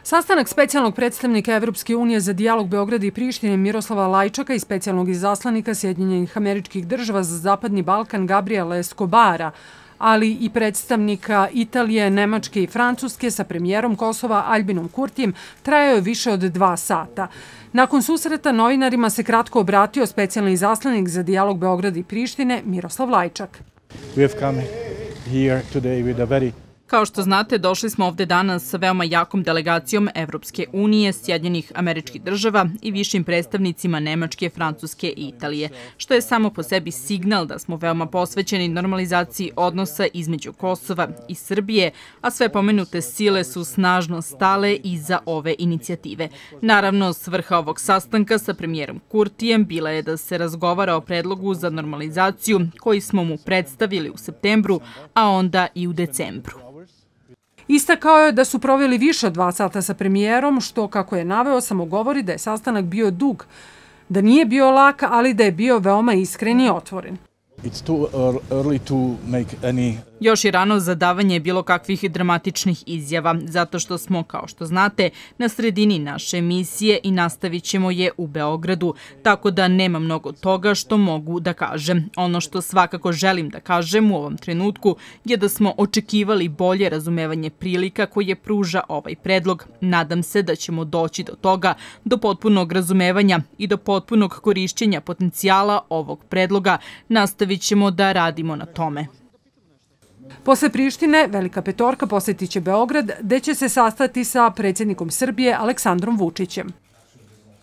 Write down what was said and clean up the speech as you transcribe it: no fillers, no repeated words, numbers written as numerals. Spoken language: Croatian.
Sastanak specijalnog predstavnika Evropske unije za dijalog Beograda i Prištine Miroslava Lajčaka i specijalnog izaslanika Sjedinjenih Američkih Država za Zapadni Balkan Gabriela Escobara, ali i predstavnika Italije, Nemačke i Francuske sa premijerom Kosova Aljbinom Kurtijem, trajao je više od 2 sata. Nakon susreta novinarima se kratko obratio specijalni izaslanik za dijalog Beograda i Prištine Miroslav Lajčak. Kao što znate, došli smo ovde danas sa veoma jakom delegacijom Evropske unije, Sjedinjenih Američkih Država i višim predstavnicima Nemačke, Francuske i Italije, što je samo po sebi signal da smo veoma posvećeni normalizaciji odnosa između Kosova i Srbije, a sve pomenute sile su snažno stale iza ove inicijative. Naravno, svrha ovog sastanka sa premijerom Kurtijem bila je da se razgovara o predlogu za normalizaciju koji smo mu predstavili u septembru, a onda i u decembru. Istakao je da su proveli više od 2 sata sa premijerom, što, kako je naveo, samo govori da je sastanak bio dug, da nije bio lak, ali da je bio veoma iskren i otvoren. Još je rano za davanje bilo kakvih dramatičnih izjava, zato što smo, kao što znate, na sredini naše misije i nastavit ćemo je u Beogradu, tako da nema mnogo toga što mogu da kažem. Ono što svakako želim da kažem u ovom trenutku je da smo očekivali bolje razumevanje prilika koje pruža ovaj predlog. Nadam se da ćemo doći do toga, do potpunog razumevanja i do potpunog korišćenja potencijala ovog predloga. Nastavit ćemo da radimo na tome. Posle Prištine, Velika petorka posjetit će Beograd, gde će se sastati sa predsjednikom Srbije Aleksandrom Vučićem.